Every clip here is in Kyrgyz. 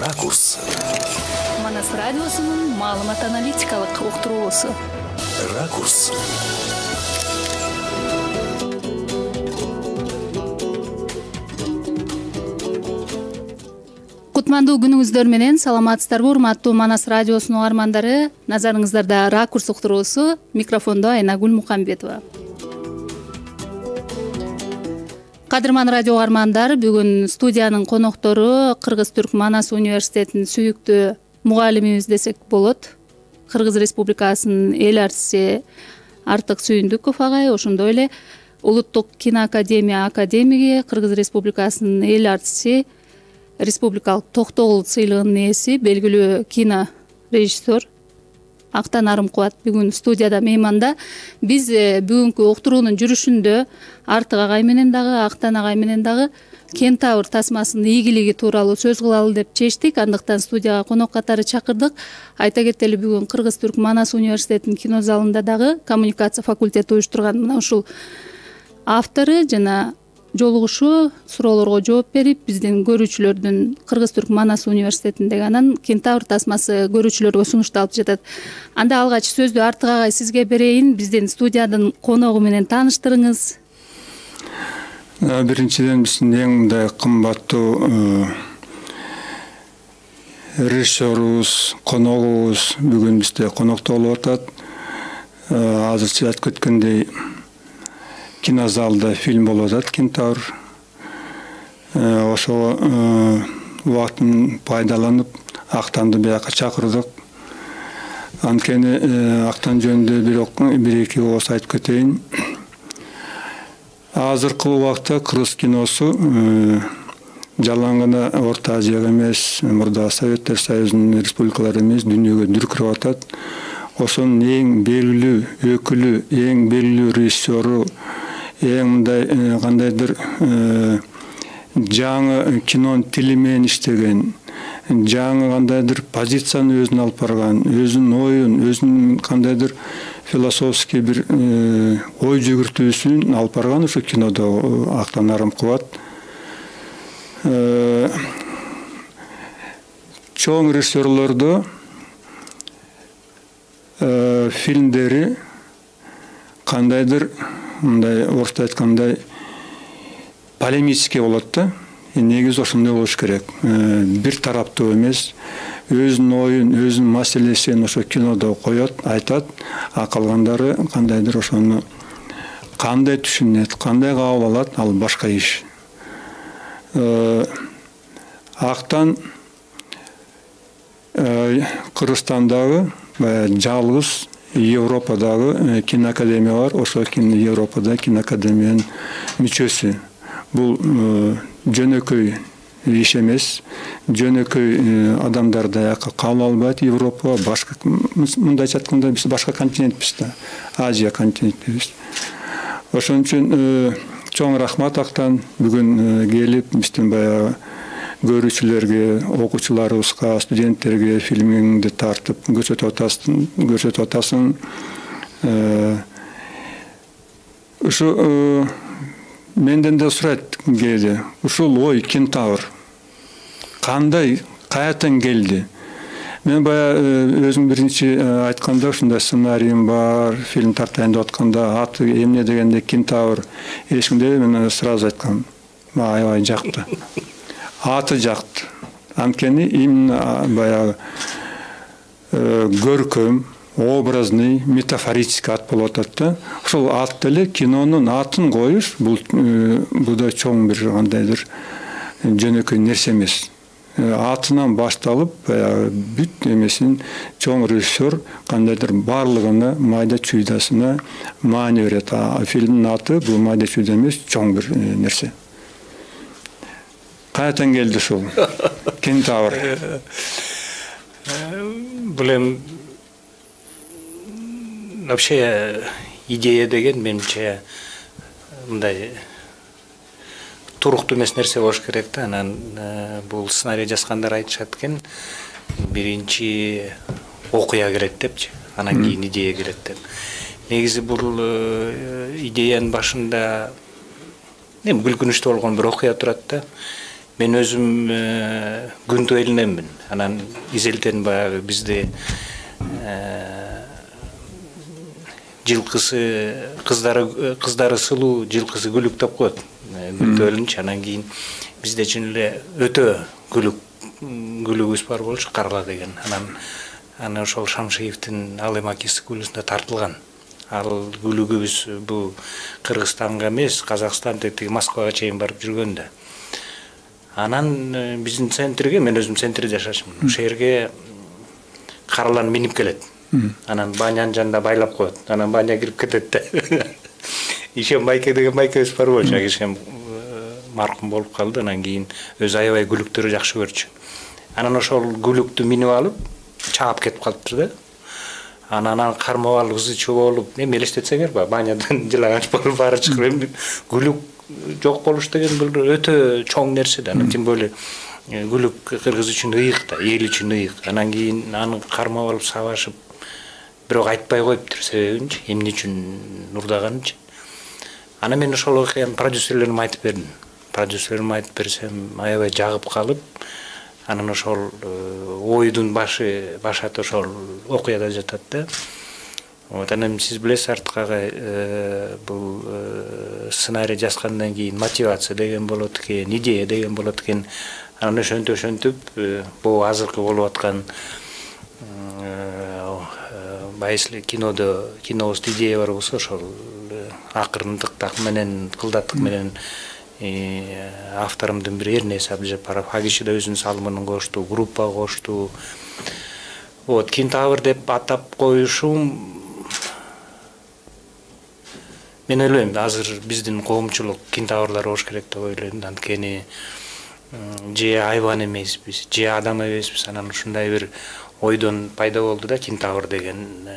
Ракурс. Манас радиосунун маалымат аналитикалык уктуруусу. Ракурс. Кутмандуу күнүңүздөр менен саламатсыздарбы урматтуу Манас радиосунун угармандары. Назарыңыздарда Ракурс уктуруусу. Микрофондо Айнагүл Мукамбетова. Кадырман радио угармандар, бүгүн студиянын коноктору Кыргыз-Түрк Манас университетинин сүйүктүү мугалимибиз десек болот. Кыргыз Республикасынын эл артиси Артык Сүйүндүков агай, ошондой эле Улуттук киноакадемия академиги, Кыргыз Республикасынын эл артиси, республикалык Токтогул сыйлыгынын ээси, белгилүү кино режиссер Актан Арымкубат бүгүн студияда мейманда. Биз бүгүнкү уктуруунун жүрүшүндө Артык агай менен дагы, Актан агай менен дагы Кентавр тасмасынын ийгилиги тууралуу сөз кылалы деп чечтик. Андыктан студияга конок катары чакырдык. Айта кетели, бүгүн Кыргыз-Түрк Манас университетинин кино залында дагы коммуникация факультети уюштурган мына ушул автору жана жолугушуу суроолорго жооп берип, биздин көрүүчүлөрдүн Кыргыз-Түрк Манас университетиндеги анан Кентавр тасмасы көрүүчүлөргө сунушталып жатат. Анда алгач сөздү Артык агай сизге берейин. Биздин студиянын коногу менен тааныштырыңыз. Биринчиден биздин эң мындай кымбаттуу режиссерубуз, коногубуз бүгүн бизде конокто болуп атат. Азырча айтып кеткендей, кинозалда фильм болуп атат Кентавр. Ошо убактын пайдаланып Актанды бияка чакырдык. Анткени Актан жөнүндө бир-эки ооз айтып кетейин. Азыркы убакта кыргыз киносу жалаң гана Орто Азияга эмес, мурда Советтер Союзунун республикалары эмес, дүйнөгө дүркүрөп атат. Ошонун эң белгилүү өкүлү, эң белгилүү режиссеру, эң мындай кандайдыр жаңы кинонун тили менен иштеген, жаңы кандайдыр позицияны өзүнө алып барган, өзүнүн оюн, өзүнүн кандайдыр философский бир ой жүгүртүүсүн алып барган ошо кинодо Актан Арымкубат. Чоң режиссерлордо фильмдери кандайдыр мындай орусча айткандай полемический болот да. Негизи ошондой болуш керек. Бир тараптуу эмес, өзүнүн оюн, өзүнүн маселесин ошо кинодо коет, айтат, а калгандары кандайдыр ошону кандай түшүнөт, кандай кабыл алат, ал башка иш. Актан Кыргызстандагы жалгыз Европадагы киноакадемия бар, ошо Европада киноакадемиянын мүчөсү. Бул жөнөкөй иш эмес, жөнөкөй адамдар даяка кабыл албайт Европа, башка мындайча айтканда биз башка континентпиз да, Азия континентибиз. Ошон үчүн чоң рахмат Актан бүгүн келип биздин баягы көрүүчүлөргө, окуучуларыбызга, студенттерге фильмиңди тартып көрсөтүп атасың. Ушу менден да сурайт кээде, ушул ой Кентавр кандай, каяктан келди? Мен баягы өзүм биринчи айтканда ушундай сценариym бар, фильм тартайын деп атканда аты эмне дегенде Кентавр эчкимде, мен сразу айткам, аябай жакты. Аты жакты. Анткени именно баягы көркөм, образный, метафорический ат болуп атат да. Ошол ат деле кинонун атын коюш, бул да чоң бир кандайдыр жөнөкөй нерсе эмес. Атынан башталып, баягы бүт эмесин чоң режиссер кандайдыр барлыгына, майда чүйдасына маани берет. Фильмдин аты бул майда чүйдө эмес, чоң бир нерсе. Каяктан келди ушул Кентавр? Бул эми вообще идея деген менимче мындай туруктуу эмес нерсе болуш керек да. Анан бул сценарий жазгандар айтышат экен, биринчи окуя келет депчи, анан кийин идея келет деп. Негизи бул идеянын башында күлкүнүчтүү болгон бир окуя турат да. мен өзүм күндү элинемин. Анан изелтен баягы бизде жылкысы кыздары сылуу, жылкысы күлүк деп коет. Күндү элинчи. Анан кийин бизде чын эле өтө күлүгүбүз бар болчу, Карла деген. Анан ошол Шамшиевдин Ал эми акиси күлүсүндө тартылган. Ал күлүгүбүз бул Кыргызстанга эмес, Казакстан тиги Москвага чейин барып жүргөндө. Анан биздин центрге, мен өзүм центрде жашачумун. Ошол жерге Карлан минип келет. Анан банянын жанында байлап коет. Анан баня кирип кетет да. Ишем Майке деген майкебиз бар болчу. Ишем маркум болуп калды. Анан кийин өзү аябай күлүктөрү жакшы көрчү. Анан ошол күлүктү минип алып, чаап кетип калыптыр да. Анан кармап алып, ызычуу болуп, эми элестетсеңер ба, банядан жылагач болуп баары чыгып, күлүк жок болуш деген бул өтө чоң нерсе да. Тим более күлүк кыргыз үчүн ыйык да, эл үчүн ыйык. Анан кийин аны кармап алып сабашып, бирок айтпай коюптур себебинчи, эмне үчүн урдаганынчы. Анан мен ошол окуяны продюсерлериме айтып бердим. Продюсерлериме айтып берсем, аябай жагып калып, анан ошол ойдун башаты ошол окуяда жатат да. Анан сиз билесиз, Артык агай, бул сценарий жазгандан кийин мотивация деген болот экен, идея деген болот экен. Анан ошентип бул азыркы болуп аткан байыслы кинобузда идея бар болсо, ошол акырындык менен, кылдаттык менен авторумдун бири Эрнес Абдыжапаров, Агиши да өзүнүн салымын кошту, группа кошту. Кентавр деп атап коюшум, мен ойлойм, азыр биздин коомчулук кентаврлар болуш керек деп ойлойм. Анткени же айбан эмеспиз, же адам эмеспиз. Анан ушундай бир ойдон пайда болду да кентавр деген.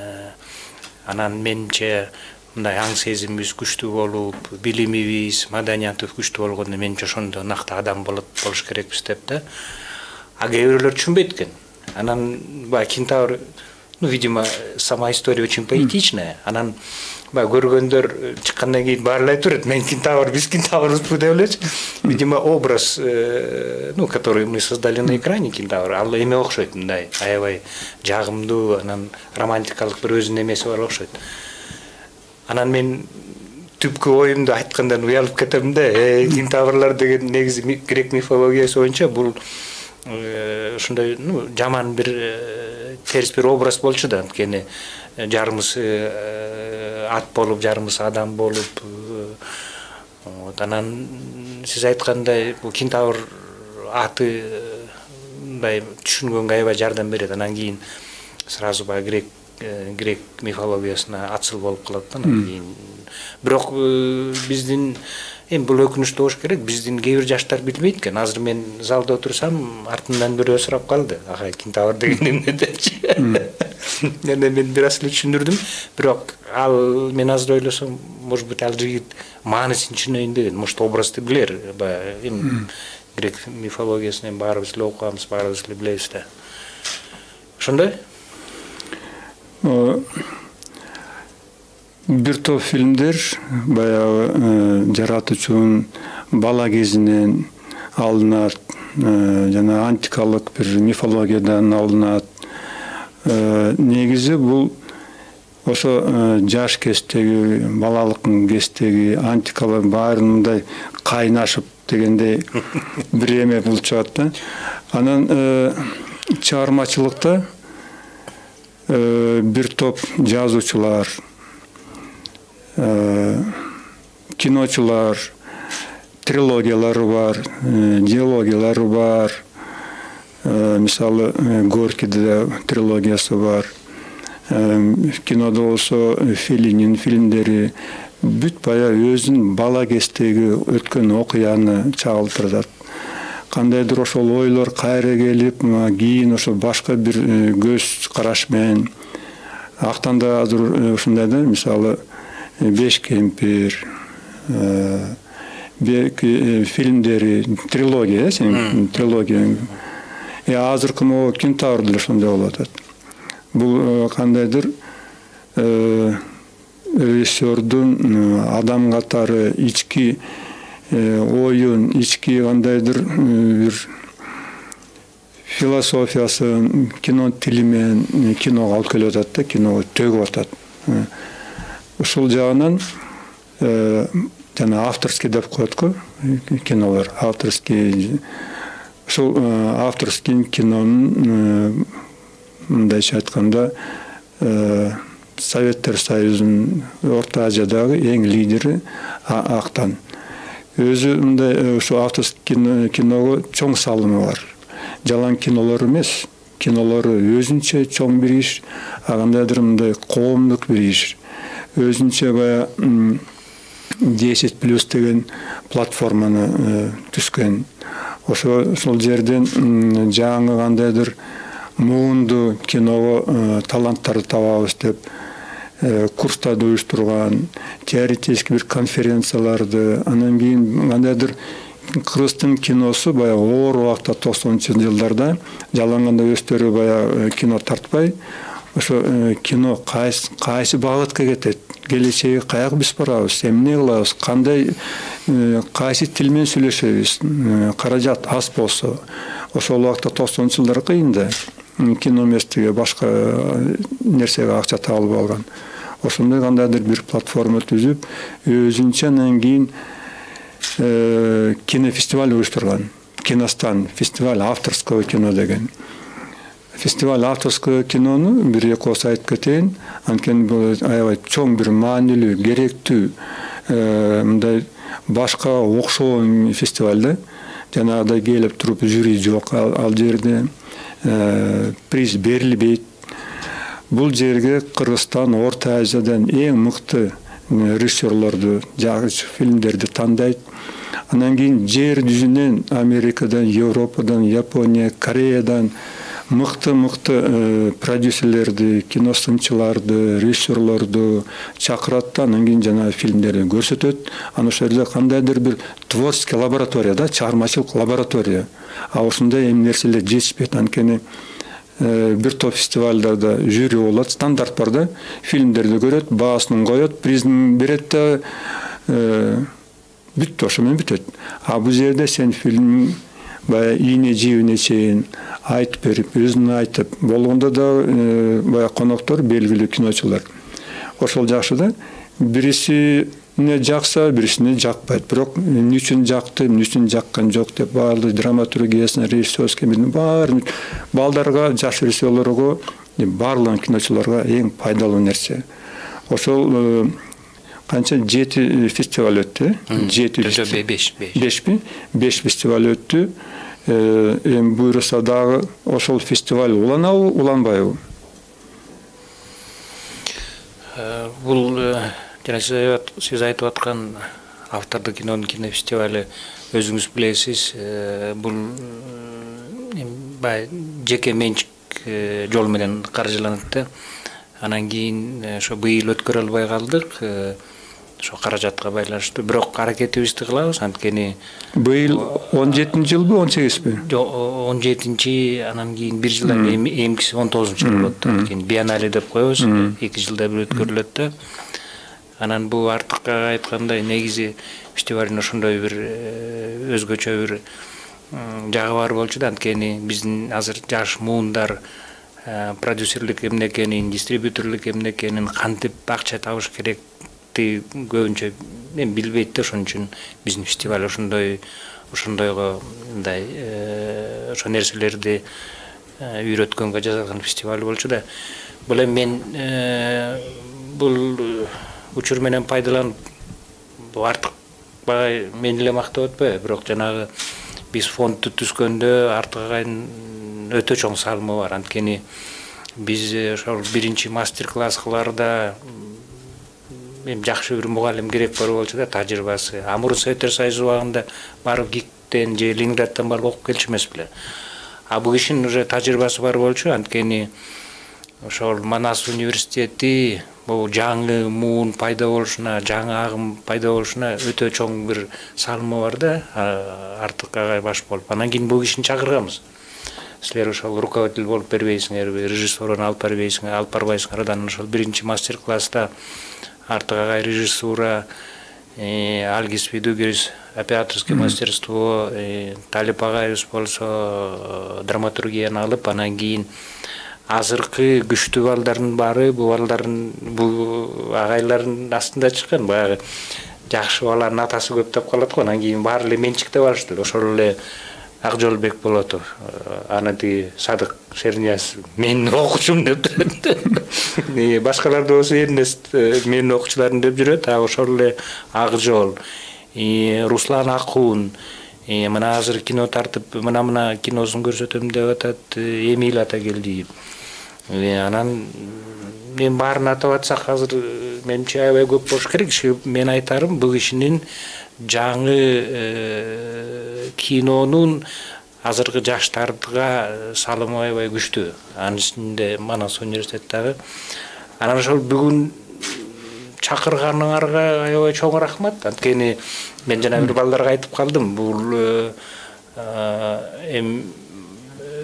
Анан менче мындай аң сезимибиз күчтүү болуп, билимибиз, маданиятыбыз күчтүү болгондо менче ошондо накты адам болуш керекпиз деп да. А кээ бирөөлөр түшүнбөйт экен. Анан баягы кентавр, видимо, сама история очень поэтичная. Анан баягы көргөндөр чыккандан кийин баары айтып берет, мен кентавр, биз кентаврбызбы деп элечи. Видимо, образ, который мы создали на экране, кентавр, ал эме окшойт, мындай аябай жагымдуу, анан романтикалык бир өзүнүн эмеси бар окшойт. Анан мен түпкү оюмду айткандан уялып кетем да. Кентаврлар деген негизи грек мифологиясы боюнча бул ушундай жаман бир терс бир образ болчу да. Анткени жарымысы ат болуп, жарымысы адам болуп. Анан сиз айткандай бул кентавр аты мындай түшүнгөнгө аябай жардам берет. Анан кийин сразу баягы грек мифологиясына атсыл болуп калат да. Бирок биздин эми бул өкүнүчтүү болуш керек, биздин кээ бир жаштар билбейт экен. Азыр мен залда отурсам, артымдан бирөө сурап калды, агай кентавр деген эмне депчи. Мен бир аз эле түшүндүрдүм, бирок ал мен азыр ойлосом, может быть, ал жигит маанисин түшүнөйүн деген, может, образды билер. Эми грек мифологиясын эми баарыбыз эле окуганбыз, баарыбыз эле билебиз да. Ошондой? Бир топ фильмдер баягы жаратуучунун бала кезинен алынат, жана антикалык бир мифологиядан алынат. Негизи бул ошо жаш кездеги, балалыктын кездеги антикалык баары мындай кайнашып дегендей бир эме болуп чыгат да. Анан чыгармачылыкта бир топ жазуучулар, киночулар, трилогиялары бар, диалогиялары бар. Мисалы, Горькийде трилогиясы бар. Кинодо болсо Феллинин фильмдери бүт баягы өзүнүн бала кездеги өткөн окуяны чагылтырат. Кандайдыр ошол ойлор кайра келип, кийин ошо башка бир көз караш менен актанда азыр ушундай да, мисалы Беш кемпир, фильмдери, трилогия, трилогия. Азыркы могу кентавр деле ошондой болуп атат. Бул кандайдыр режиссердун адам катары ички оюн, ички кандайдыр бир философиясын кино тили менен киного алып келип атат да, киного төгүп атат. Ушул жагынан жана авторский деп коет го кинолор, авторский. Ушул авторский кинонун мындайча айтканда Советтер Союзунун Орто Азиядагы эң лидери Актан. Өзү мындай ушу авторский киного чоң салымы бар. Жалаң кинолор эмес, кинолору өзүнчө чоң бир иш, кандайдыр мындай коомдук бир иш. Өзүнчө бая 10+ деген платформаны түзгөн. Ошол жерден жаңы кандайдыр муунду киного таланттарды табабыз деп курстарды уюштурган, теоретический бир конференцияларды, анан кийин кандайдыр кыргыздын киносу баягы оор убакта 90-жылдарда жаланганда өздөрү баягы кино тартпай, ошо кино кайсы багытка кетет, келечеги каяка биз барабыз, эмне кылабыз, кандай кайсы тил менен сүйлөшөбүз, каражат аз болсо. Ошол убакта 90-жылдар кыйын да, кино эместиги башка нерсеге акча табылып алган. Ошондой кандайдыр бир платформа түзүп, өзүнчө анан кийин кинофестиваль уюштурган. Киностан, фестиваль авторского кино деген. Фестиваль авторского кинону бир-эки ос айтып кетейин. Анткени бул аябай чоң бир маанилүү, керектүү, мындай башка окшогон фестиваль да. Жанагыдай келип туруп жюри жок, ал жерде приз берилбейт. Бул жерге Кыргызстан, Орто Азиядан эң мыкты режиссерлорду, жакшы фильмдерди тандайт. Анан кийин жер жүзүнөн Америкадан, Европадан, Япония, Кореядан мыкты продюсерлерди, киносынчыларды, режиссерлорду чакырат да, анан кийин жана фильмдерди көрсөтөт. Анан ошол жерде кандайдыр бир творческий лаборатория да, чыгармачылык лаборатория. Ошондой эми нерселер жетишпейт. Анткени бир топ фестивалдарда жюри болот, стандарт бар да, фильмдерди көрөт, баасын коет, призин берет да, бүттү, ошо менен бүтөт. Бул жерде сен фильм бая ийне жибине чейин айтып берип, өзүн айтып, болгондо да бая коноктор белгилүү киночулар. Ошол жакшы да, бирисине жакса, бирисине жакпайт. Бирок эмне үчүн жакты, эмне үчүн жаккан жок деп баардык драматургиясына, режиссерский баары балдарга, жаш режиссерлорго, баардык киночуларга эң пайдалуу нерсе. Ошол канча 7 фестиваль өттү? 5 фестиваль өттү. Эми буйруса дагы ошол фестиваль уланабы, уланбайбы? Бул жана сиз айтып аткан автордук кинонун кинофестивали өзүңүз билесиз, бул баягы жеке менчик жол менен каржыланат да. Анан кийин ошо быйыл өткөрө албай калдык. Ошо каражатка байланыштуу, бирок аракетибизди кылабыз, анткени быйыл 17-жылбы, 18-би? Жок, 17-чи, анан кийин бир жылдан эмгиси 19-жыл болот. Анткени биеннале деп коебуз, 2 жылда бир өткөрүлөт да. Анан бул артыкка айткандай негизи фестивалдын ошондой бир өзгөчө бир жагы бар болчу да, анткени биздин азыр жаш муундар продюсерлик эмне экенин, дистрибьюторлук эмне экенин, кантип акча табыш керек көбүнчө билбейт да. Ошон үчүн биздин фестиваль ошондойго мындай ошо нерселерди үйрөткөнгө жасалган фестиваль болчу да. Бул эми мен бул учур менен пайдаланып артык мен эле мактап атпайбы, бирок жанагы биз фондду түзгөндө артык агайын өтө чоң салымы бар. Анткени биз ошол биринчи мастер-класс кылаарда эми жакшы бир мугалим керек бар болчу да, тажрыйбасы. Мурун Советтер Союзу убагында барып ГИКтен же Ленинградтан барып окуп келчү эмес беле. Бул кишинин уже тажрыйбасы бар болчу, анткени ошол Манас университети бул жаңы муун пайда болушуна, жаңы агым пайда болушуна өтө чоң бир салымы бар да, артык агай баш болуп. Анан кийин бул кишини чакырганбыз. Силер ошол руководитель болуп бербейсиңерби, режиссердон алып барбайсыңар. Анан ошол биринчи мастер-класста артык агай режиссура, Альгис Видугерис операторское мастерство, Талип агайыбыз болсо драматургияны алып, анан кийин азыркы күчтүү балдардын баары бул агайлардын астында чыккан. Баягы жакшы баланын атасы көп деп калат го. Анан кийин баары эле менчикте барышты. Ошол эле Акжолбек Болотов, аны тиги Садык Шернияз менин окуучум деп жүрөт. Башкалар да болсо Эрнест менин окуучуларым деп жүрөт. Ошол эле Акжол, Руслан Акун, мына азыр кино тартып, мына киносун көрсөтөм деп атат Эмиль Атагелдиев. Анан мен баарын атап атсак азыр менимче аябай көп болуш керек. Мен айтарым, бул кишинин жаңы кинонун азыркы жаштарга салымы аябай күчтүү. Анын ичинде Манас университети дагы. Анан ошол бүгүн чакырганыңарга аябай чоң рахмат. Анткени мен жана бир балдарга айтып калдым, бул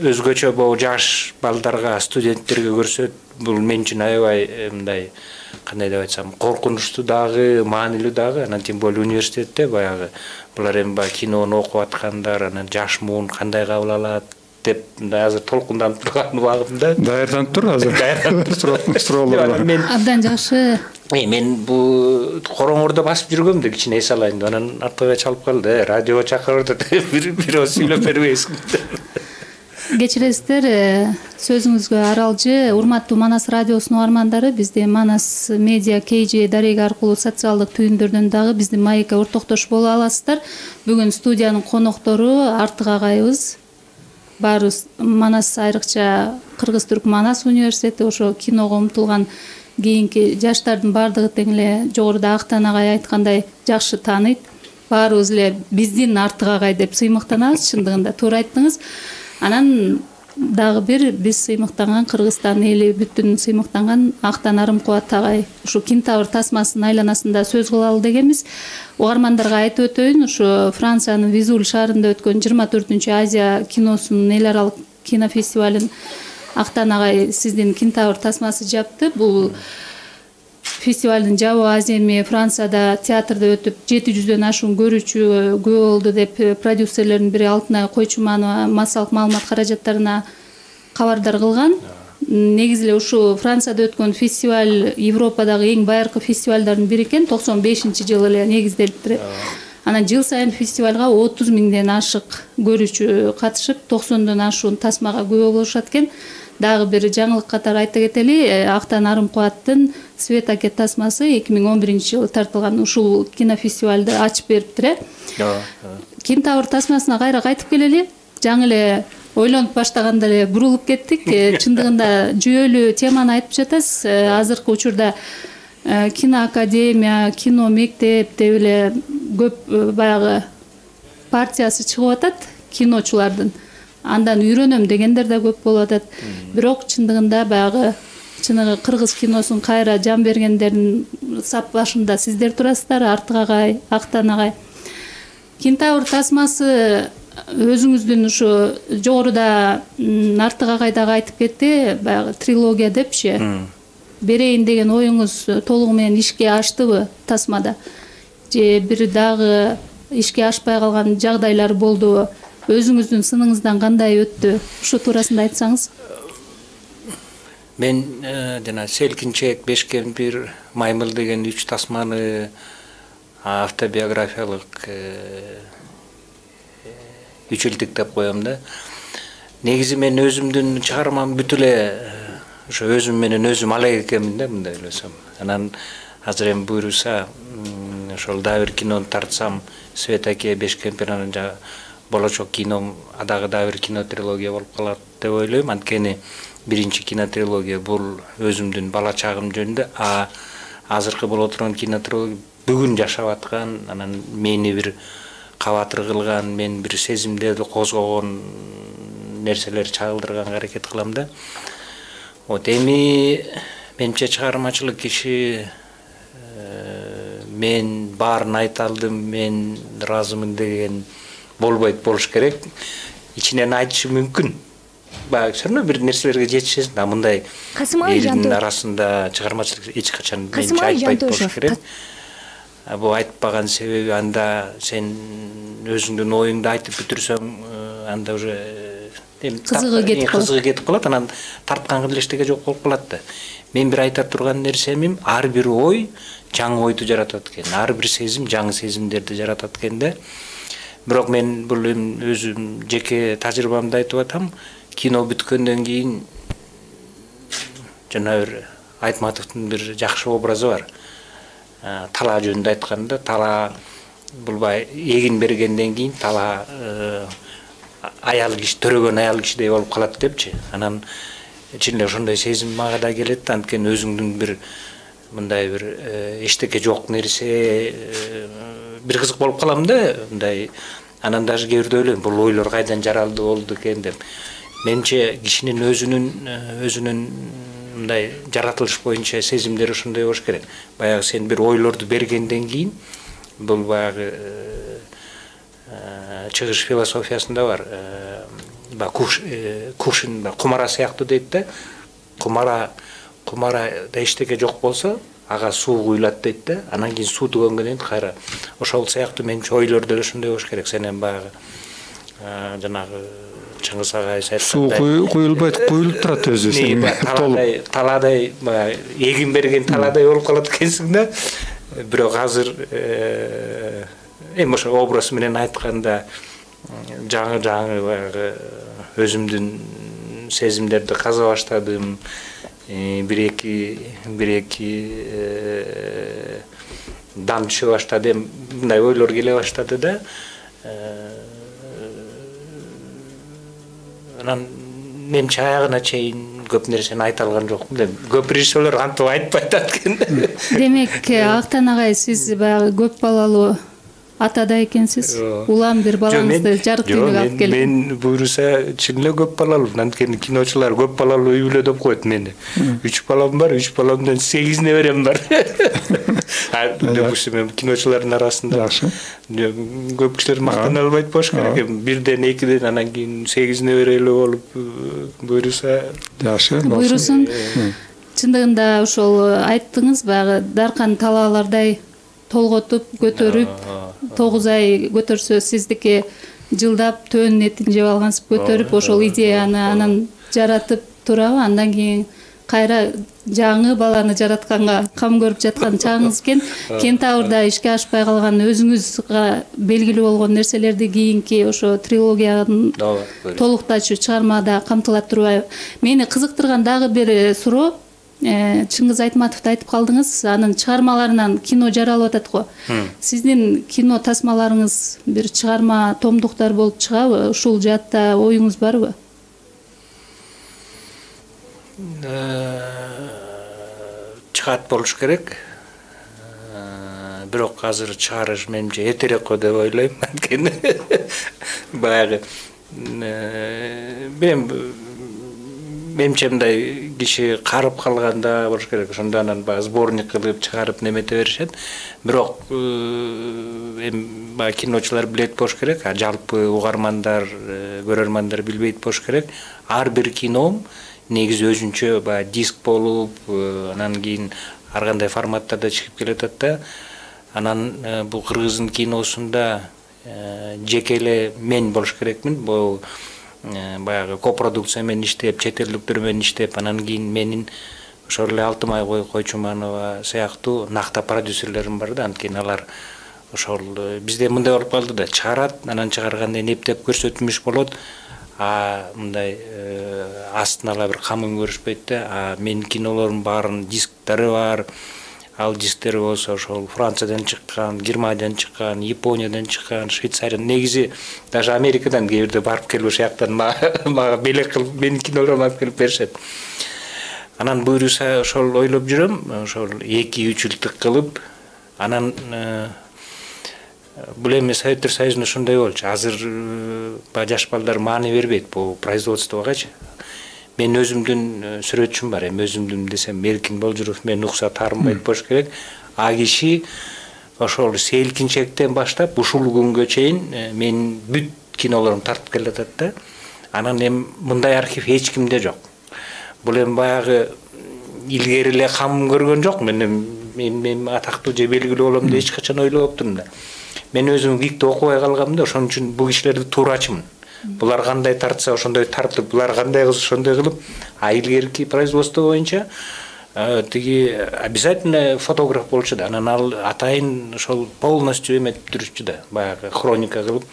өзгөчө бул жаш балдарга, студенттерге көрсөт, бул мен үчүн аябай мындай, кандай деп айтсам, коркунучтуу дагы, маанилүү дагы. Анан тем более университетте баягы булар эми кинону окуп аткандар, анан жаш муун кандай кабыл алат деп мындай азыр толкунданып турган убагымда. Даярданып тур азыр. Суроолорго. Абдан жакшы. Мен бул короңордо басып жүргөм да кичине эс алайын деп, анан артыга чалып калды. Радиого чакырды деп бирөө сүйлөп бербейсиң. Кечиресиздер, сөзүңүзгө аралжы. Урматтуу Манас радиосунун угармандары, бизде Манас медиа KG дареги аркылуу социалдык түйүндөрдөн дагы биздин маекке ортоктош боло аласыздар. Бүгүн студиянын коноктору Артык агайыбыз. Баарыбыз Манас, айрыкча Кыргыз-Түрк Манас университети, ошо киного умтулган кийинки жаштардын баардыгы тең эле жогоруда Актан агай айткандай жакшы тааныйт. Баарыбыз эле биздин Артык агай деп сыймыктанабыз, чындыгында туура айттыңыз. Анан дагы бир биз сыймыктанган, Кыргызстан эли бүтүн сыймыктанган Актан Арымкубат агай ушу Кинтавр тасмасынын айланасында сөз кылалы дегенбиз. Угармандарга айтып өтөйүн, ушу Франциянын Визуль шаарында өткөн 24-чү Азия киносунун эл аралык кинофестивалын Актан агай сиздин Кинтавр тасмасы жапты. Бул фестивалдын жабуу аземи Францияда театрда өтүп 700дөн ашуун көрүүчү күбө болду деп продюсерлердин бири Алтынай Койчуманова массалык маалымат каражаттарына кабардар кылган. Негизи эле ушу Францияда өткөн фестиваль Европадагы эң байыркы фестивалдардын бири экен. 95-жылы эле негизделиптир. Анан жыл сайын фестивалга 30 000ден ашык көрүүчү катышып, 90дон ашуун тасмага күбө болушат экен. Дагы бир жаңылык катары айта кетели, Актан Арымкубаттын Свет Акет тасмасы 2011-жылы тартылган ушул кинофестивалды ачып бериптир. Кинтавр тасмасына кайра кайтып келели. Жаңы эле ойлонуп баштаганда эле бурулуп кеттик. Чындыгында жүйөлүү теманы айтып жатасыз. Азыркы учурда киноакадемия, кино мектеп деп эле көп баягы партиясы чыгып атат киночулардын. Андан үйрөнөм дегендер да көп болуп атат. Бирок чындыгында баягы чыныгы кыргыз киносун кайра жан бергендердин сап башында сиздер турасыздар, Артык агай, Актан агай. Кинтавр тасмасы өзүңүздүн ушу жогоруда Артык агай дагы айтып кетти, баягы трилогия депчи. Берейин деген оюңуз толугу менен ишке аштыбы тасмада? Же бир дагы ишке ашпай калган жагдайлар болдубу? Өзүңүздүн сыныңыздан кандай өттү? Ушу туурасында айтсаңыз. Мен жана Селкинчек, Бешкемпир, Маймыл деген 3 тасманы автобиографиялык үчүлтүк деп коем да. Негизи мен өзүмдүн чыгармам бүт эле ошо өзүм менен өзүм алек экенмин да, мындай ойлосом. Анан азыр эми буйруса ошол дагы бир кинону тартсам, Свет Аке, Бешкемпир, анан болочок кином дагы бир кино трилогия болуп калат деп ойлойм. Анткени биринчи кино трилогия бул өзүмдүн бала чагым жөнүндө, азыркы болуп турган кино трилогия бүгүн жашап аткан, анан мени бир кабатыр кылган, мен бир сезимдерди козгогон нерселер чагылдырганга аракет кылам да. Вот эми менимче чыгармачылык киши мен баарын айта алдым, мен ыраазымын деген болбойт, болуш керек. Ичинен айтышы мүмкүн. Баягы все равно бир нерселерге жетишесиң. Мындай элдин арасында чыгармачылык эч качан менимче айтпайт болуш керек. бул айтпаган себеби анда сен өзүңдүн оюңду айтып бүтүрсөң анда уже кызыгы кетип калат, анан тарткан эле эчтеке жок болуп калат да. Мен бир айта турган нерсем ар бир ой жаңы ойду жаратат экен, ар бир сезим жаңы сезимдерди жаратат экен да. Бирок мен бул өзүм жеке тажрыйбамды айтып атам, кино бүткөндөн кийин жана бир Айтматовдун бир жакшы образы бар. Талаа жөнүндө айтканда, талаа бул эгин бергенден кийин талаа аял киши, төрөгөн аял кишидей болуп калат депчи. Анан чын эле ошондой сезим мага да келет да, анткени өзүңдүн бир мындай бир эчтеке жок нерсе бир кызык болуп калам да, мындай. Анан даже кээ бирде ойлойм, бул ойлор кайдан жаралды болду экен деп. Менимче кишинин өзүнүн мындай жаратылыш боюнча сезимдери ошондой болуш керек. Баягы сен бир ойлорду бергенден кийин, бул баягы чыгыш философиясында бар. Кувшин кумара сыяктуу дейт да. Кумарада эчтеке жок болсо, ага суу куюлат дейт да. Анан кийин суу түгөнгөндөн кийин кайра ошол сыяктуу менимче ойлор деле ошондой болуш керек. Сен эми баягы жанагы Чыңгыз агай айткандай суу куюлбайт, куюлуп турат өзү. Талаадай эгин берген талаадай болуп калат экенсиң да. Бирок азыр эми ошо образ менен айтканда жаңы баягы өзүмдүн сезимдерди каза баштадым. Бир эки дам түшө баштады, мындай ойлор келе баштады да. Анан менимче аягына чейин көп нерсени айта алган жокмун. Көп режиссерлор антип айтпайт экен. Демек, Актан агай, сиз баягы көп балалуу атада экенсиз. Улам бир балаңызды жарык дүйнөгө алып келди. Мен буюрса чын эле көп балалуу. Анткени киночулар көп балалуу үй бүлө деп коет мени. 3 балам бар, 3 баламдан 8 неберем бар. Допустим, киночулардын арасында көп кишилер мактана албайт болуш керек. Бирден, экиден, анан кийин 8 небере эле болуп буюрса жакшы. Буйрусун. Чындыгында ошол айттыңыз, баягы даркан талаалардай толготуп, көтөрүп, 9 ай көтөрсө сиздики жылдап төөнүн этин жеп алгансып көтөрүп, ошол идеяны анан жаратып турабы, андан кийин кайра жаңы баланы жаратканга кам көрүп жаткан чагыңыз экен. Кентаврда ишке ашпай калган өзүңүзгө белгилүү болгон нерселерди кийинки ошо трилогиянын толуктачу чыгармада камтыла турбайбы? Мени кызыктырган дагы бир суроо, Чыңгыз Айтматовду айтып калдыңыз, анын чыгармаларынан кино жаралып атат го. Сиздин кино тасмаларыңыз бир чыгарма, томдуктар болуп чыгабы? Ушул жаатта оюңуз барбы? Чыгат болуш керек. Бирок азыр чыгарыш менимче эртерээк го деп ойлойм. Анткени баягы менимче мындай киши карып калганда болуш керек. Ошондо анан баягы сборник кылып чыгарып немете беришет. Бирок эми баягы киночулар билет болуш керек, жалпы угармандар, көрөрмандар билбейт болуш керек. Ар бир кином негизи өзүнчө баягы диск болуп, анан кийин ар кандай форматтарда чыгып келатат да. Анан бул кыргыздын киносунда жеке эле мен болуш керекмин. Бул баягы копродукция менен иштеп, чет элдиктер менен иштеп, анан кийин менин ошол эле Алтымай Койчуманова сыяктуу накта продюсерлерим бар да. Анткени алар ошол бизде мындай болуп калды да, чыгарат, анан чыгарганда эптеп көрсөтүлмүш болот. Мындай астына ала бир камын көрүшпөйт да. Менин кинолордун баарынын дисктери бар. Ал дисктер болсо ошол Франциядан чыккан, Германиядан чыккан, Япониядан чыккан, Швейцариядан, негизи даже Америкадан кээ бирде барып келип ошол жактан мага белек кылып менин кинолорумду алып келип беришет. Анан буюрса ошол ойлоп жүрөм, ошол 2-3 жылдык кылып, анан бул эми Советтер Союзунда ошондой болчу. Азыр жаш балдар маани бербейт бул производствогачы. Мен өзүмдүн сүрөтчүм бар, эми өзүмдүн десем Эркин Болжуров менен укса таарынбайт болуш керек. Киши ошол селкинчектен баштап ушул күнгө чейин менин бүт кинолорумду тартып келатат да. Анан эми мындай архив эч кимде жок. Бул эми баягы илгери эле кам көргөн жок. Мен мен атактуу же белгилүү болом деп эч качан ойлоптурмун да. Мен өзүм ВИКти окубай калгам да, ошон үчүн бул кишилерди туурачымын. Булар кандай тартса ошондой тартып, булар кандай кылса ошондой кылып, а илгерки производство боюнча тиги обязательно фотограф болчу да. Анан ал атайын ошол полностью эметип жүрчү да, баягы хроника кылып.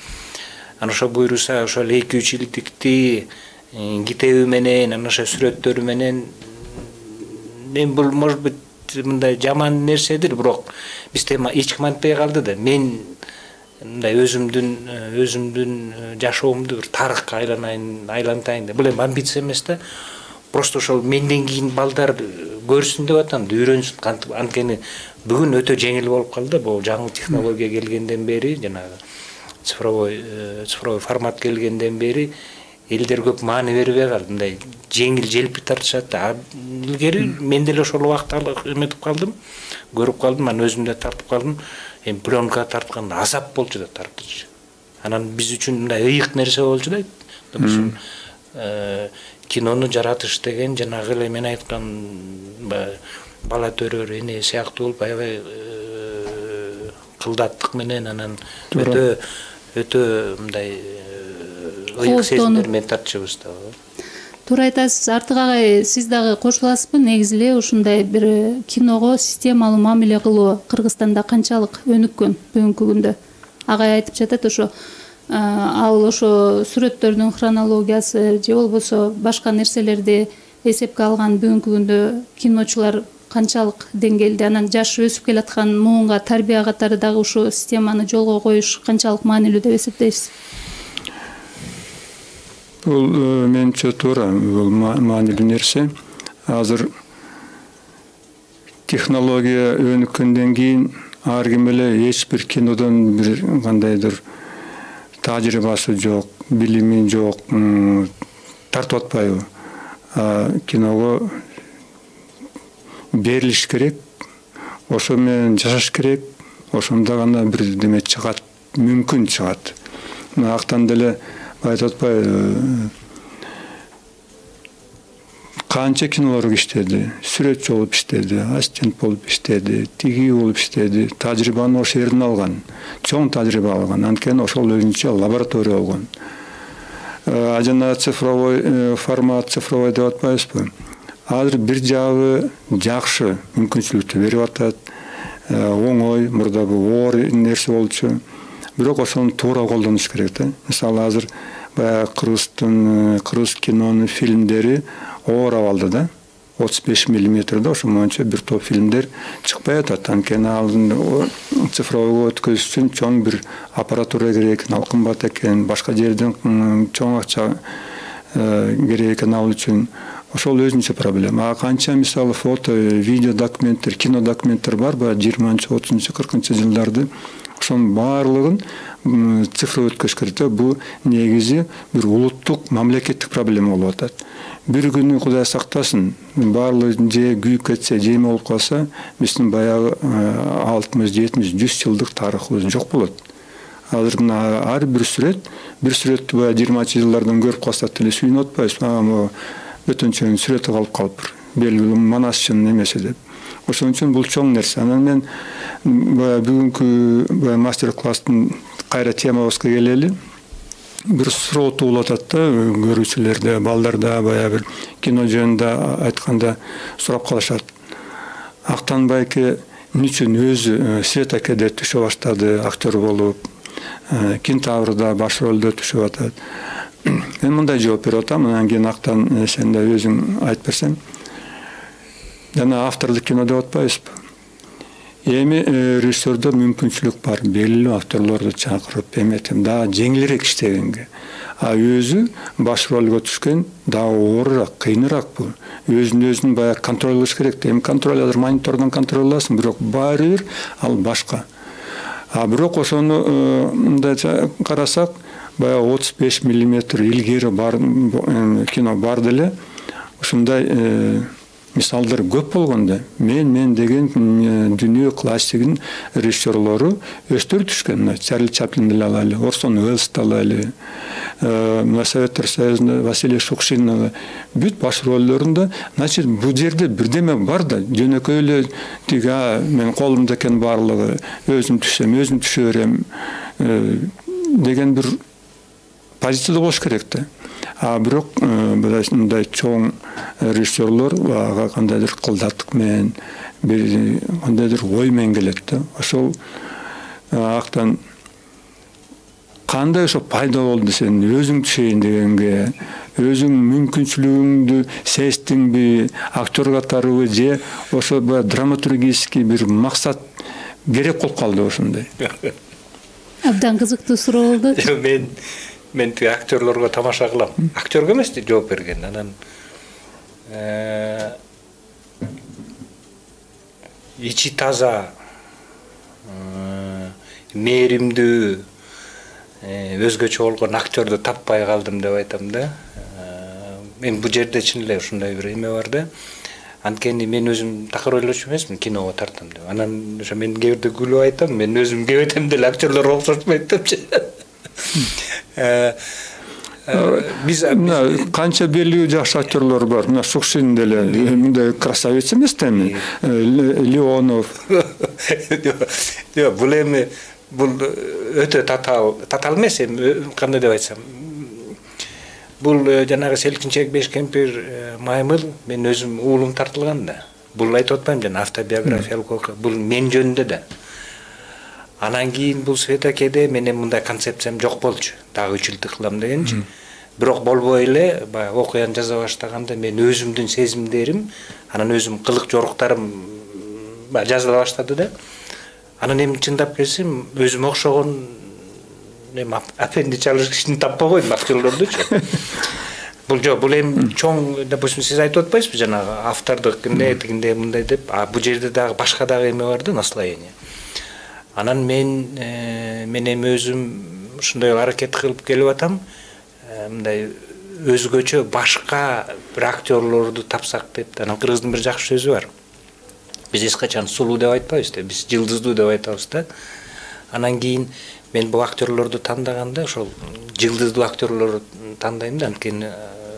Анан ошо буйруса ошол 2-3 илдикти китеби менен, анан ошо сүрөттөрү менен мен бул может быть мындай жаман нерседир, бирок бизде эч ким антпай калды да. Мен мындай өзүмдүн жашоомду бир тарыхка айлантайын деп. Бул эми амбиция эмес да. Просто ошол менден кийин балдар көрсүн деп атам, үйрөнсүн. Кантип анткени бүгүн өтө жеңил болуп калды. Бул жаңы технология келгенден бери, жанагы цифровой формат келгенден бери элдер көп маани бербей калды. Мындай жеңил желпи тартышат да. Илгери мен деле ошол убакта эметип калдым, көрүп калдым, анан өзүм да тартып калдым. Эми пленка тартканда азап болчу да тартыш. Анан биз үчүн мындай ыйык нерсе болчу да. Допустим, кинону жаратыш деген жанагы эле мен айткан бала төрөр эне сыяктуу болуп аябай кылдаттык менен анан өтө мындай ыйык сезимдер менен тартышыбыз да. Туура айтасыз. Артык агай, сиз дагы кошуласызбы? Негизи эле ушундай бир киного системалуу мамиле кылуу Кыргызстанда канчалык өнүккөн бүгүнкү күндө? Агай айтып жатат, ошо ал ошо сүрөттөрдүн хронологиясы же болбосо башка нерселерди эсепке алган бүгүнкү күндө киночулар канчалык деңгээлде, анан жаш өсүп келаткан муунга тарбия катары дагы ушул системаны жолго коюш канчалык маанилүү деп эсептейсиз? Бул менимче туура, бул маанилүү нерсе. Азыр технология өнүккөндөн кийин ар ким эле эч бир кинодон бир кандайдыр тажрыйбасы жок, билими жок, тартып атпайбы? Киного берилиш керек, ошо менен жашаш керек, ошондо гана бир деме чыгат, мүмкүн чыгат. Актан деле айтып атпайбы, канча кинолор иштеди, сүрөтчү болуп иштеди, ассистент болуп иштеди, тиги болуп иштеди, тажрыйбаны ошол жерден алган, чоң тажрыйба алган, анткени ошол өзүнчө лаборатория болгон. Жана цифровой формат, цифровой деп атпайбызбы? Азыр бир жагы жакшы мүмкүнчүлүктү берип атат, оңой, мурда бул оор нерсе болчу. Бирок ошону туура колдонуш керек да. Мисалы азыр баягы кыргыз кинонун фильмдери оор абалда да, 35 миллиметрде ошо боюнча бир топ фильмдер чыкпай атат. Анткени алдын цифровойго өткөзүш үчүн чоң бир аппаратура керек, ал кымбат экен, башка жерден чоң акча керек экен ал үчүн. Ошол өзүнчө проблема. Канча мисалы фото, видео документтер, кино документтер бар, 20-30, 40 жылдарды. Ошонун баардыгын цифр өткөзүш керек. Бул негизи бир улуттук, мамлекеттик проблема болуп атат. Бир күнү Кудай сактасын, баардыгы же күйүп кетсе, же эме болуп калса, биздин баягы 60, 70, 100 жылдык тарыхыбыз жок болот. Азыр мына ар бир сүрөттү 20 жылдардан көрүп калсак деле сүйүнүп атпайбыз. Өтөнчөнүн сүрөтү калып калыптыр. Белгилүү манасчынын эмеси деп. Ошон үчүн бул чоң нерсе. Анан мен бүгүнкү мастер-класстын кайра темабызга келели. Бир суроо туулуп атат да, көрүүчүлөрдө, балдарда баягы бир кино жөнүндө айтканда сурап калышат. Актан байке эмне үчүн өзү Свет акеде түшө баштады, актер болуп, Кентаврда баш ролдо түшүп атат. Мен мындай жооп берип атам, анан кийин Актан сен да өзүң айтып берсең. Жана автордук кино деп атпайбызбы? Эми режиссердо мүмкүнчүлүк бар, белгилүү актерлорду чакырып, эметип дагы жеңилирээк иштегенге. А өзү баш ролго түшкөн дагы оорураак, кыйыныраак бул. Өзүн баягы контролдош керек. Эми контроль азыр монитордон контролдосуң, бирок баары бир ал башка. А бирок ошону мындай карасак, баягы 35 миллиметр илгери бар кино бар деле, ушундай мисалдар көп болгондо мен деген дүйнө классигинин режиссерлору өстөрүп түшкөн. Чарли Чаплинди алалы, Орсон Уэллсти алалы, Советтер Союзунда Василий Шукшин бүт баш ролдорунда, значит, бул жерде бирдеме бар да, жөнөкөй эле тиги мен колумда экен барлыгы, өзүм түшөм, өзүм түшө берем деген бир позицияда болуш керек да. Бирок мындай чоң режиссерлор ага кандайдыр кылдаттык менен, бир кандайдыр ой менен келет да. Ошол актан кандай ошо пайда болду сен өзүң түшөйүн дегенге, өзүң мүмкүнчүлүгүңдү сездиңби, актер катарыбы же ошо драматургический бир максат керек болуп калды ошондой? Абдан кызыктуу суроо болду. Мен тиги актерлорго тамаша кылам. Актерге эмес жооп берген. Анан ичи таза, мээримдүү, өзгөчө болгон актерди таппай калдым деп айтам да. Мен бул жерде чын эле ушундай бир эме бар да. Анткени мен өзүм такыр ойлочу эмесмин киного тартам деп. Анан ошо мен кээ бирде күлүп айтам, мен өзүм кебетем деле актерлорго окшошпойт депчи. Биз канча белгилүү жакшы актерлор бар. Мына Шукшин деле мындай красавец эмес да эми. Леонов. Бул эми бул өтө татал эмес, кандай деп айтсам. Бул жанагы Селкинчек Беш кемпир Маймыл мен өзүм уулум тартылган да. Бул айтып атпайм жана автобиографиялык окуя. Бул мен жөнүндө да. Анан кийин бул Светакеде менен мындай концепциям жок болчу. Дагы 3 жыл кылам дегенчи. Бирок болбой эле, баягы окуяны жаза баштаганда мен өзүмдүн сезимдерим, анан өзүм кылык жоруктарым жазыла баштады да. Анан эми чындап келсем, өзүм окшогон апенди чалыш кишини таппай койдум актерлордучу. Бул жок, бул эми чоң, допустим, сиз айтып атпайсызбы жанагы автордук тигинде мындай деп, бул жерде дагы башка дагы эме бар да, наслоение. Анан мен эми өзүм ушундай аракет кылып келип атам, мындай өзгөчө башка бир актерлорду тапсак деп. Анан кыргыздын бир жакшы сөзү бар. Биз эч качан сулуу деп айтпайбыз да, биз жылдыздуу деп айтабыз да. Анан кийин мен бул актерлорду тандаганда ошол жылдыздуу актерлорду тандайм да, анткени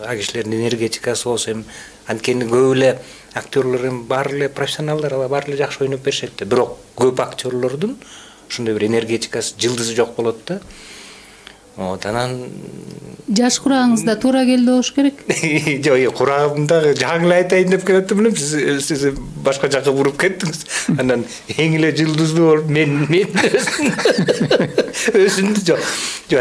ал кишилердин энергетикасы болсо эми анткени көп эле актерлор эми баары эле профессионалдар, алар баары эле жакшы ойноп беришет да. Бирок көп актерлордун ушундай бир энергетикасы, жылдызы жок болот да. Анан жаш курагыңызда туура келди болуш керек. Жок, курагымда жаңы айтайын деп келиптим элем, сиз башка жакка буруп кеттиңиз. Анан эң эле жылдыздуу болуп мен өзүмдү жок.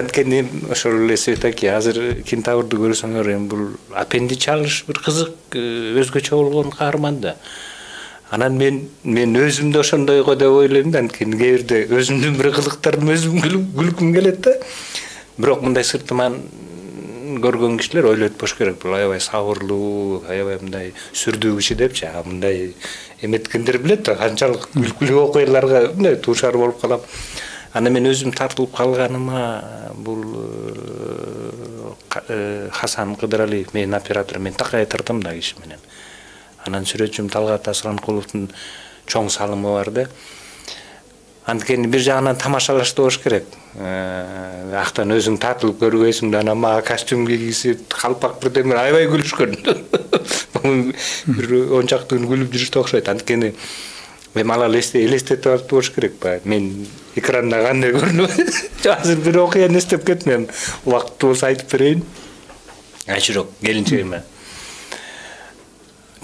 Анткени ошол эле Светаке азыр Кентаврду көрсөңөр эми бул апенди чалыш бир кызык, өзгөчө болгон каарман да. Анан мен өзүмдү ошондойго деп ойлойм да, анткени кээ бирде өзүмдүн бир кылыктарым өзүм күлкүм келет да. Бирок мындай сыртыман көргөн кишилер ойлойт болуш керек, бул аябай сабырлуу, аябай мындай сүрдүү киши депчи. Мындай эметкендер билет да, канчалык күлкүлүү окуяларга мындай туушар болуп калам. Анан мен өзүм тартылып калганыма бул Хасан Кыдыралиев, менин оператор, мен такай тартам да киши менен. Анан сүрөтчүм Талгат Асранкуловдун чоң салымы бар да. Анткени бир жагынан тамашалаштуу болуш керек. Актан өзүң тартылып көргөйсүң да, анан мага костюм кийгизип, калпак бирдеме аябай күлүшкөн. Бир 10 чакты күн күлүп жүрүштү окшойт. Анткени мен алар элестетип алып болуш керек ба. Мен экранда кандай көрүнөм? Азыр бир окуяны эстеп кеттим. Убакыттуу болсо айтып берейин. Айчырок келинчегиме.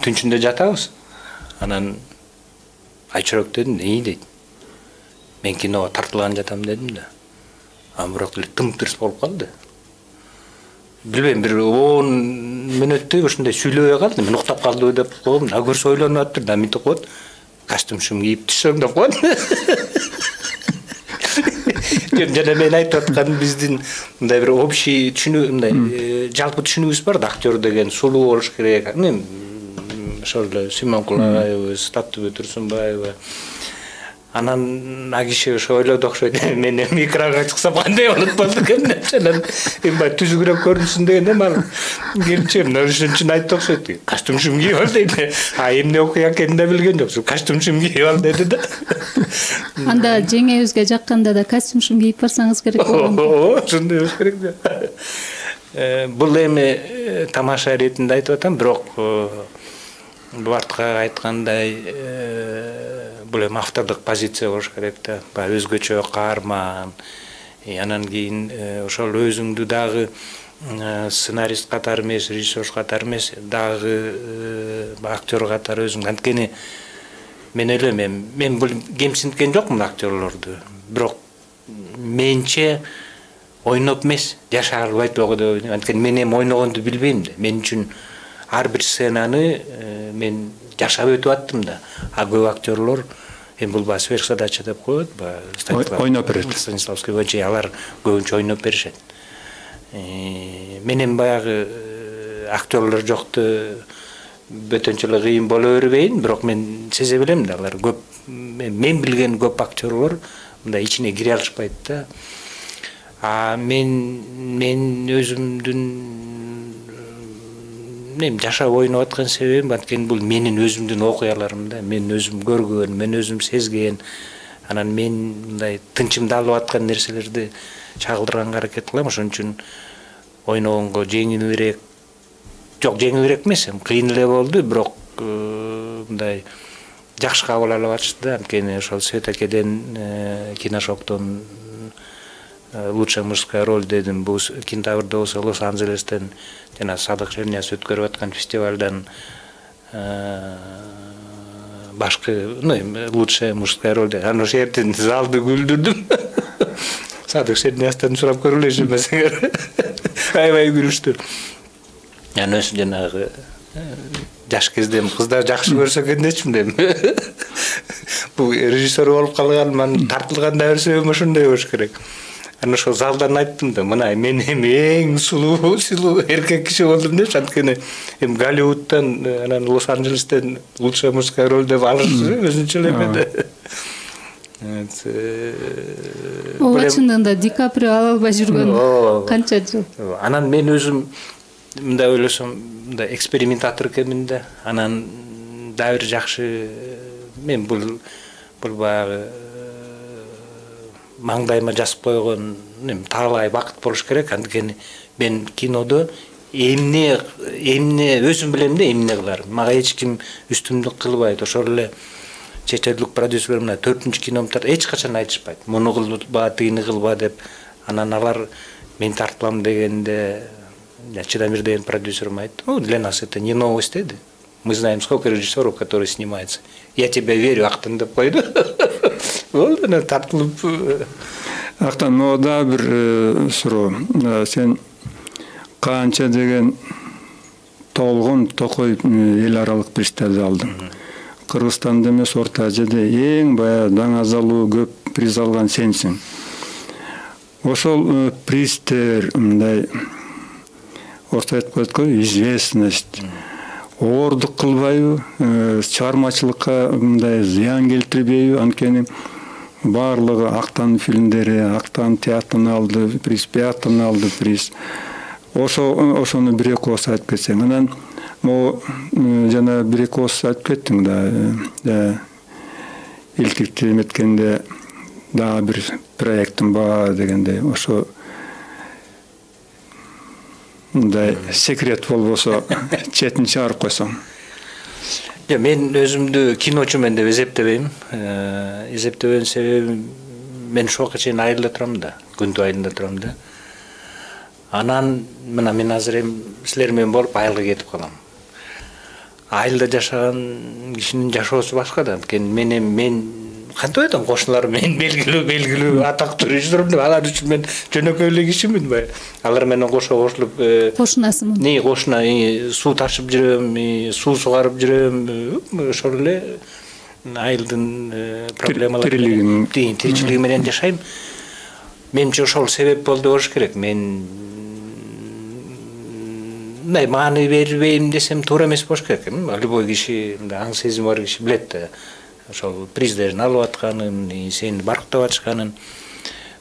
Түнчүндө жатабыз. Анан Айчырок дедим, "Эй" дейт. Мен киного тартылган жатам дедим да. Бирок тым-тырс болуп калды. Билбейм, бир 10 мүнөттөй ушундай сүйлөбөй калды. Мен уктап калдыбы деп койдум. Көрсө ойлонуп атыптыр, да мынтип коет. Костюмшум кийип түшсөм деп коет. Жана мен айтып атканым биздин мындай бир общий түшүнүү, мындай жалпы түшүнүүбүз бар да, актер деген сулуу болуш керек. Ошол эле Сүймөнкул Агайыбыз, Таттыбек Турсунбаева. Анан а киши ошо ойлоду окшойт. Мен эми экранга чыксам кандай болот болду экен. Анан эми бай түзүгүрөөк көрүнсүн дегенде мал келчем ошон айтты окшойт. Костюмшум кийип ал дейт. А эмне окуя экенин да билген жок. Костюмшум кийип ал деди да. Анда жеңебизге жакканда да костюмшум кийип барсаңыз керек болгон. Ошондой болуш керек да. Бул эми тамаша иретинде айтып атам, бирок бул артка айткандай бул эми автордук позиция болуш керек да. Баягы өзгөчө каарман. Анан кийин ошол өзүңдү дагы сценарист катары эмес, режиссер катары эмес, дагы актер катары өзүң. Анткени мен ойлойм, мен бул кемсинткен жокмун актерлорду. Бирок менче ойноп эмес, жашай албайт болго деп ойлойм. Анткени мен эми ойногонду билбейм да. Мен үчүн ар бир сценаны мен жашап өтүп аттым да. А көп актерлор эми бул баягы сверхзадача деп коет, баягы ойноп берет. Станиславский боюнча алар көбүнчө ойноп беришет. Мен эми баягы актерлор жокту бөтөнчө эле кыйын боло бербейин, бирок мен сезе билем да, алар көп мен билген көп актерлор мындай ичине кире алышпайт да. А мен өзүмдүн эми жашап ойноп аткан себебим анткени бул менин өзүмдүн окуяларым да. Мен өзүм көргөн, мен өзүм сезген. Анан мен мындай тынчымды алып аткан нерселерди чагылдырганга аракет кылам. Ошон үчүн ойногонго жеңилирээк, жок жеңилирээк эмес, кыйын эле болду, бирок мындай жакшы кабыл алып атышты да. Анткени ошол Свет Акеден, Киношоктон лучшая мужская роль дедим. Бул Кентаврда болсо Лос-Анджелестен жана Садык Шернияз өткөрүп аткан фестивалдан башкы, лучшая мужская роль. Анан ошол жерден залды күлдүрдүм. Садык Шернияздан сурап көрүлөчү эмесиңер. Аябай күлүштү. Анан ошо жанагы жаш кезде кыздар жакшы көрсө экен дечим дейм. Бул режиссер болуп калган, тартылганда бир себебим ошондой болуш керек. Анан ошол залдан айттым да, мына мен эми эң сулуу эркек киши болдум депчи. Анткени эми Голливудтан, анан Лос-Анджелестен лучшая мужская роль деп алышты өзүнчө эле эме. Ооба, чындыгында Ди Каприо ала албай жүргөн канча жыл. Анан мен өзүм мындай ойлосом, мындай экспериментатор экенмин да. Анан дагы бир жакшы мен бул баягы маңдайыма жазып койгон таалай бакыт болуш керек. Анткени мен кинодо эмне өзүм билем да, эмне кыларым. Мага эч ким үстүмдүк кылбайт. Ошол эле чет элдик продюсерлер мына 4-ч киномду эч качан айтышпайт. Муну кылба, тыйны кылба деп. Анан алар мен тартылам дегенде Чедамир деген продюсерим айтты: "Для нас это не новость, деди. Мы знаем, сколько режиссеров, которые снимаются. Я тебе верю, Актан деп койду." Болду, тартылып. Актан, но да бир суроо. Сен канча деген толгон токой эл аралык пристизди алдың. Кыргызстанда эмес, Орто Азияда эң баягы даңазалуу көп приз алган сенсиң. Ошол приздер мындай орто айтып коет го, известность оордук кылбайбы, чыгармачылыкка мындай зыян келтирбейби? Анткени баардыгы Актан фильмдери, Актан театрын алды, приз, театрын алды приз. Ошону бир-эки ооз айтып кетсең. Анан могу жана бир-эки ооз айтып кеттиң да. Илтикти эметкенде дагы бир проектим бар дегенде, ошо мындай секрет болбосо четин чыгарып койсоң. Мен өзүмдү киночумун деп эсептебейм. Эсептебөөнүн себеби мен ошого чейин айылда турам да, күндү айылында турам да. Анан мына мен азыр эми силер менен болуп айылга кетип калам. Айылда жашаган кишинин жашоосу башка да. Анткени мен кантип айтам, кошуналарым мен белгилүү атактуу режиссермун деп, алар үчүн мен жөнөкөй эле кишимин бай. Алар менен кошулуп кошунасымын. Кошуна суу ташып жүрөм, суу сугарып жүрөм. Ошол эле айылдын проблемалары, тиричилиги менен жашайм. Менимче ошол себеп болду болуш керек. Мен маани бербейм десем туура эмес болуш керек. Любой киши, аң сезими бар киши билет да. ошол приздерин алып атканын, сени барктап атышканын.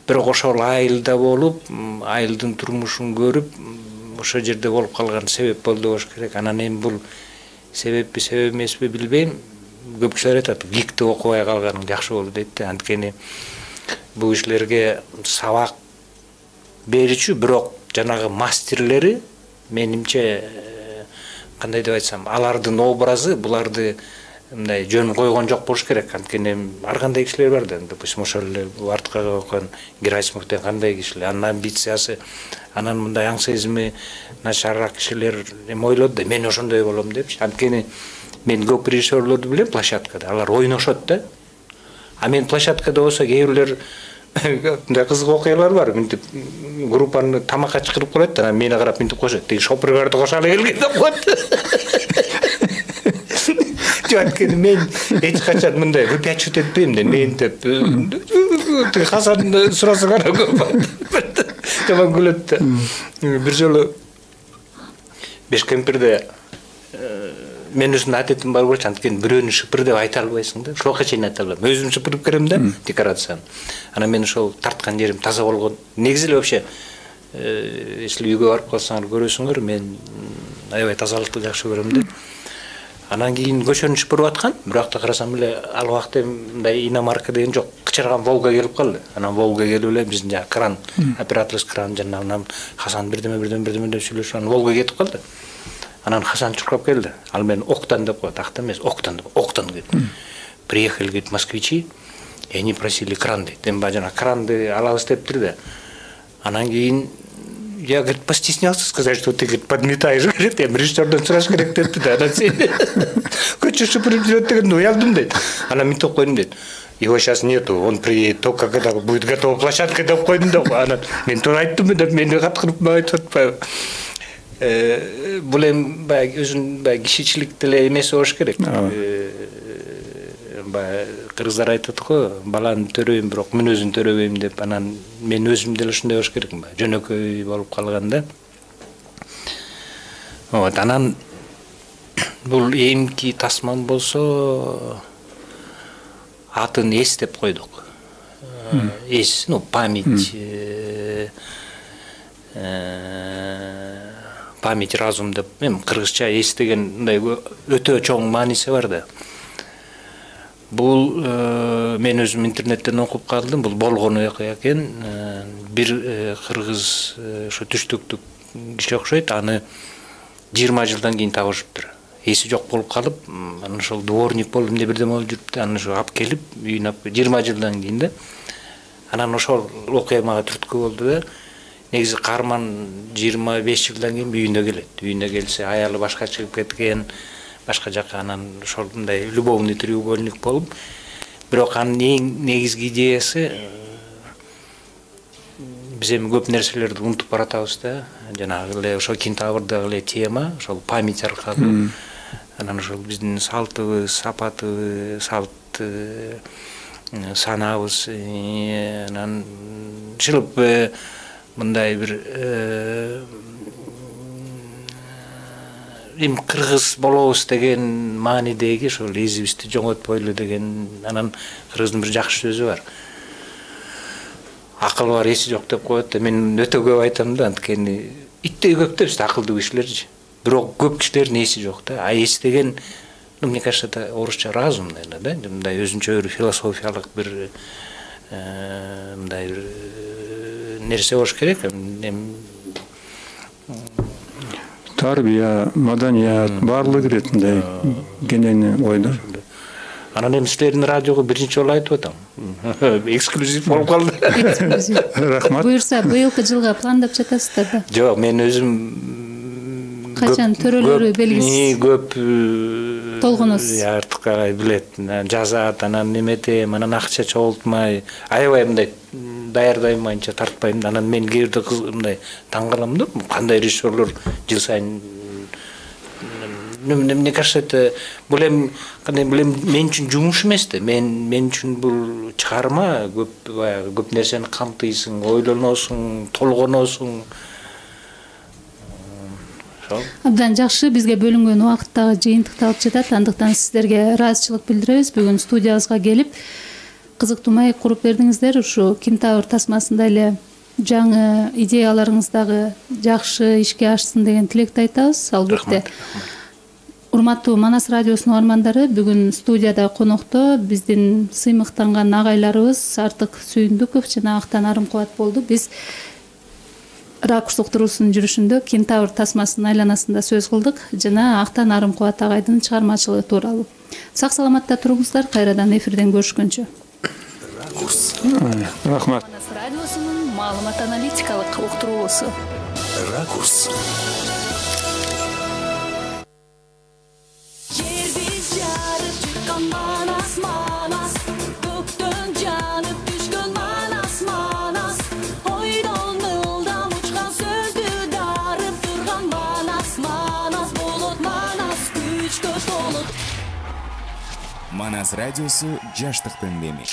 Бирок ошол айылда болуп, айылдын турмушун көрүп, ошол жерде болуп калган себеп болду болуш керек. Анан эми бул себеппи, себеп эмеспи билбейм. Көп кишилер айтат, ГИКти окубай калганың жакшы болду дейт да. Анткени бул кишилерге сабак берүүчү, бирок жанагы мастерлери менимче кандай деп айтсам, алардын образы буларды мындай жөн койгон жок болуш керек. Анткени ар кандай кишилер бар да, допустим, ошол эле артка койгон Герасимов деген кандай кишилер, анын амбициясы, анан мындай аң сезими начарраак кишилер эме ойлоду да, мен ошондой болом депчи. Анткени мен көп режиссерлорду билем площадкада, алар ойношот да. А мен площадкада болсо кээ бирлер мындай кызык окуялар бар. Мынтип группаны тамакка чакырып коет да, анан мени карап мынтип коешет. Тиги шопурларды кошалы келген деп коет. Анткени мен эч качан мындай выпячивать этпейм да, мен деп тиги Хасан сураса гана көп. Жаман күлөт да. Бир жолу Бешкемпирде мен өзүмдүн адетим бар болчу, анткени бирөөнү шыпыр деп айта албайсың да. Ошого чейин айта алам. Өзүм шыпырып берем да декорацияны. Анан мен ошол тарткан жерим таза болгон. Негизи эле вообще если үйгө барып калсаңар көрөсүңөр, мен аябай тазалыкты жакшы көрөм да. Анан кийин көчөнү шыпырып аткан, бирок да карасам эле ал убакта мындай иномарка деген жок. Кычырган Волга келип калды. Анан Волга келип эле биздин жана кран, операторский кран жанагынан Хасан бирдеме деп сүйлөшүп, анан Волга кетип калды. Анан Хасан чуркап келди. Ал мен Октан деп коет, акта эмес, Октан деп. Октан дейт. Приехали, говорит, москвичи, и они просили кран дейт. Эми жана кранды алабыз дептир да. Анан кийин я, говорит, постеснялся сказать, что ты, говорит, подметаешь, говорит, я режиссерден сураш керек депти да. Анан сен көчө шыпырып жүрөт деген уялдым дейт. Анан мен топ койдум дейт. Его сейчас нету, он приедет только когда будет готова площадка деп койдум да. Анан мен туура айттым деп мени каткырып айтып атпайбы. Бул эми баягы өзүнүн баягы кишичилик деле эмес болуш керек. Баягы кыргыздар айтат го, баланы төрөйм, бирок мүнөзүн төрөбөйм деп. Анан мен өзүм деле ушундай болуш керек, жөнөкөй болуп калганда. Вот, анан бул эмки тасман болсо атын Эс деп койдук. Эс, память, память разум деп, кыргызча Эс деген мындай өтө чоң мааниси бар да. Бул мен өзүм интернеттен окуп калдым, бул болгон окуя экен. Бир кыргыз ошо түштүктүк киши окшойт, аны 20 жылдан кийин табышыптыр. Эси жок болуп калып, анан ошол дворник болуп эмне бирдеме болуп жүрүптү, анан ошо алып келип үйүнө 20 жылдан кийин да. Анан ошол окуя мага түрткү болду да. Негизи каарман 25 жылдан кийин үйүнө келет. Үйүнө келсе аялы башка чыгып кеткен, башка жака, анан ошол мындай любовный треугольник болуп, бирок анын эң негизги идеясы биз эми көп нерселерди унутуп баратабыз да. Жанагы эле ошол Кентаврдагы эле тема, ошол память аркылуу, анан ошол биздин салтыбыз, сапатыбыз, салт санабыз, анан чылып мындай бир эми кыргыз болобуз деген маанидеги ошол изибизди жоңотпойлу деген. Анан кыргыздын бир жакшы сөзү бар. Акыл бар, эси жок деп коет да. Мен өтө көп айтам да, анткени иттей көп да бизде акылдуу кишилерчи. Бирок көп кишилердин эси жок да. А эс деген, мне кажется, это орусча разум, наверное, да? Мындай өзүнчө бир философиялык бир мындай бир нерсе болуш керек. Тарбия, маданият, баардыгы кирет мындай кенени ойдор. Анан эми силердин радиого биринчи жолу айтып атам. Эксклюзив болуп калды. Рахмат. Буюрса, быйылкы жылга пландап жатасыздар да? Жок, мен өзүм качан төрөлөрү белгисиз. Көп толгоносуз. Артыкка билет, жазат, анан неметем, анан акча чогултмай, аябай мындай даярдаймайынча тартпайм. Анан мен кээ бирде мындай таң калам да, кандай режиссерлор жыл сайын. Мне кажется, это бул эми мен үчүн жумуш эмес да. Мен үчүн бул чыгарма, көп нерсени камтыйсың, ойлоносуң, толгоносуң. ошол Абдан жакшы, бизге бөлүнгөн убакыт дагы жыйынтыкталып жатат. Андыктан сиздерге ыраазычылык билдиребиз. Бүгүн студиябызга келип кызыктуу маек куруп бердиңиздер. Ушу Кентавр тасмасында эле жаңы идеяларыңыз дагы жакшы ишке ашсын деген тилекти айтабыз. Албетте. Урматтуу Манас радиосунун угармандары, бүгүн студияда конокто биздин сыймыктанган агайларыбыз Артык Сүйүндүков жана Актан Арымкубат болду. Биз Ракурс уктуруусунун жүрүшүндө Кентавр тасмасынын айланасында сөз кылдык жана Актан Арымкубат агайдын чыгармачылыгы тууралуу. Сак саламатта туруңуздар, кайрадан эфирден көрүшкөнчө. Рахмат. Манас радиосунун маалымат аналитикалык уктуруусу. Ракурс. Манас радиосу жаштыктын деми.